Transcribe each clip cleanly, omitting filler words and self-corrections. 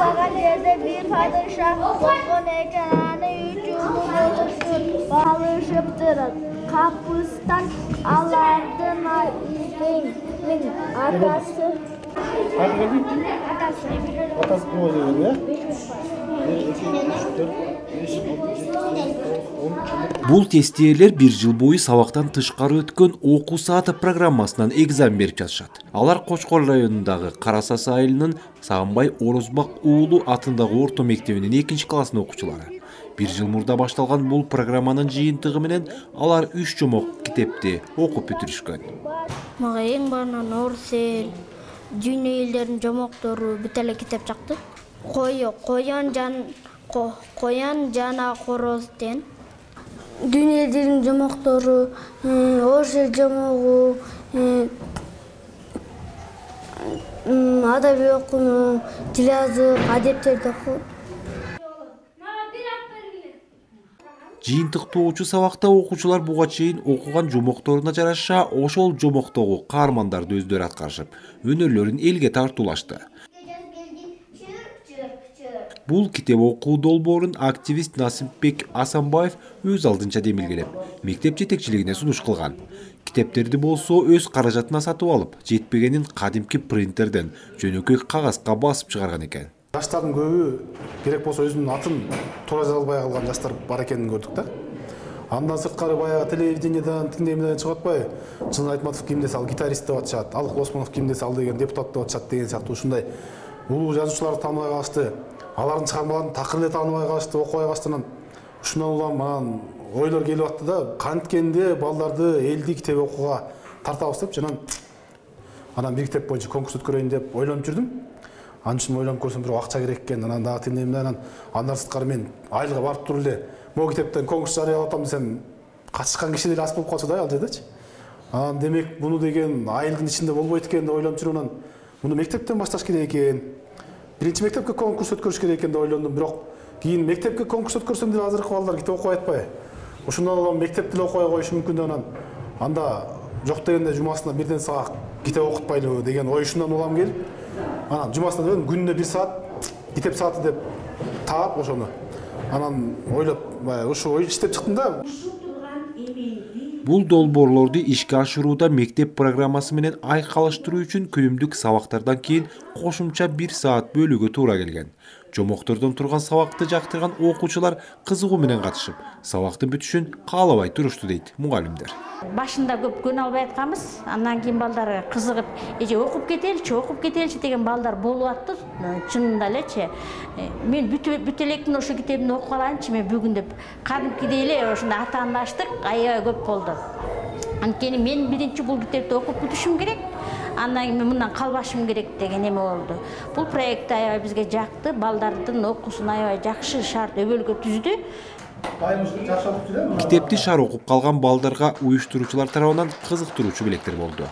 Жашаган жерде бир падышах болгон экен, аны 3 жыл алышыптыр. Капыстан алардын атасы. Атасы ким болгон, Бул тестиелер 1 жыл бою сабактан тышкары өткөн окуу сааты программасынан экзамен берип жатышат. Алар Кочкор районундагы Карасасы айылынын Сагынбай Орозбак уулу атындагы орто мектебинин 2-классын окуучулары. 1 жыл мурда башталган бул программанын жыйынтыгы менен алар 3 жомок китепти окуп бүтүрүшкөн. Мага эң баарынан орус эл, дүйнө элдеринин жомоктору бүт эле китеп жакты. Коян жана короз деген. Дүйнө элдеринин жомоктору, орус эл жомогу, адаби окуу, тил жазык, адептерди окуу. Жыйынтыктоочу сабакта окуучулар буга чейин окуган жомокторуна жараша ошол жомоктогу каармандарды өздөрү аткарышып, өнөрлөрүн элге тартуулашты. Бул китеп окуу долбоорун активист Насипбек Асанбаев өз алдынча демилгелеп, мектеп жетекчилигине сунуш кылган. Китептерди болсо өз каражатына сатып алып, жетпегенин кадимки принтерден жөнөкөй кагазга басып чыгарган экен. Жаштардын көбү керек болсо өзүнүн атын туура жаза албай калган жаштар бар экенин көрдүк да. Андан сырткары баягы телевидениеден, тиңдемеден чыгып атпайбы? Чын Айтматов ким десе ал гитарист деп атышат, Алык Осмонов ким десе ал деген депутат деп атышат деген сыяктуу ушундай улуу жазуучуларды тааныбай калышты. Алардын чыгармаларын такыр эле тааныбай калышты, окубай калыштан ушундан улам анан ойлор келип атты да, канткенде балдарды элди китеп окууга тартабыз деп жанан анан бир китеп боюнча конкурс өткөрөйүн деп ойлонуп жүрдүм. Анын үчүн ойлонуп көрсөм бирок акча керек экен. Анан дагы тиңдемден андан сырткары мен айылга барып туруп эле могу китептен конкурс жарыялап атам десем, катышкан киши деле аз болуп калчу да ал жердечи. Анан демек буну деген айылдын ичинде болбойт экен деп ойлонуп жүрүп анан буну мектептен башташ керек экен. Биринчи мектепке конкурс өткөрүш керек экен деп ойлондум, бирок кийин мектепке конкурс өткөрсөм деле азыркы балдар китеп окубай атпайбы? Ошондон улам мектеп деле окубай коюшу мүмкүн деп анан анда жок дегенде жумасына бирден саат китеп окутпайлыбы деген ой ушундан улам келип, анан жумасына дебем күнүнө 1 саат китеп сааты деп таап ошону. Анан ойлоп, ушу ой иштеп чыктым да. Бул долбоорлорду ишке ашырууда мектеп программасы менен айкалыштыруу үчүн күнүмдүк сабактардан кийин кошумча 1 саат бөлүүгө туура келген. Жомоктордон турган сабакты жактырган окуучулар кызыгуу менен катышып, сабактын бүтүшүн каалабай турушту дейт мугалимдер. Башында көп күн албай атканбыз, андан кийин балдар кызыгып, эже окуп кетеличи деген балдар болуп атты. Чынында элечи. Мен бүт электин ошо китебин окуп алайынчы мен бүгүн деп кадимкидей эле ошондой атаандаштык аябай көп болду. Анткени мен биринчи бул китепти окуп бүтүшүм керек. Андан кийин мындан калбашым керек деген эме болду. Бул проект аябай бизге жакты, балдардын окуусун аябай жакшы шарт өбөлгө түздү. Китепти шаар окуп калган балдарга уюштуруучулар тарабынан кызыктыруучу белектер болду.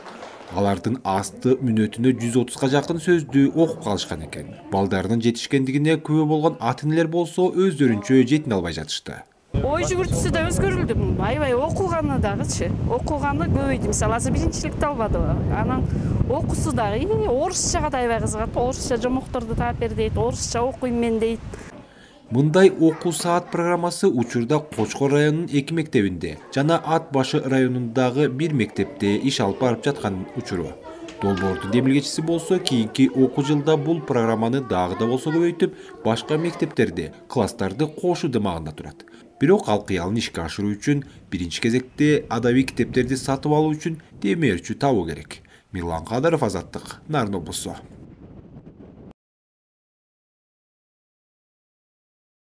Алардын асты мүнөтүнө 130га жакын сөздү окуп калышкан экен. Балдардын жетишкендигине күбө болгон ата-энелер болсо өздөрүнчө жете албай жатышты. Ой жүгүртүүсү да өзгөрүлдү. Аябай окуганы дагычы. Окуганы көбөйдү. Мисалы азыр биринчиликти албадыбы. Анан окуусу дагы орусчага да аябай кызыгат. Орусча жомокторду таап бер дейт, орусча окуйм мен дейт. Мындай окуу саат программасы учурда Кочкор районунун 2 мектебинде жана Ат башы районундагы 1 мектепте иш алып барып жаткан учуру. Долбоордун демилгечиси болсо кийинки окуу жылда бул программаны дагы да болсо көбөйтүп, башка мектептерди, класстарды кошуу дымагында турат. Бирок ал кыялын ишке ашыруу үчүн биринчи кезекте адабий китептерди сатып алуу үчүн демөөрчү табуу керек. Мирлан Кадыров, Азаттык, Нарын облусу.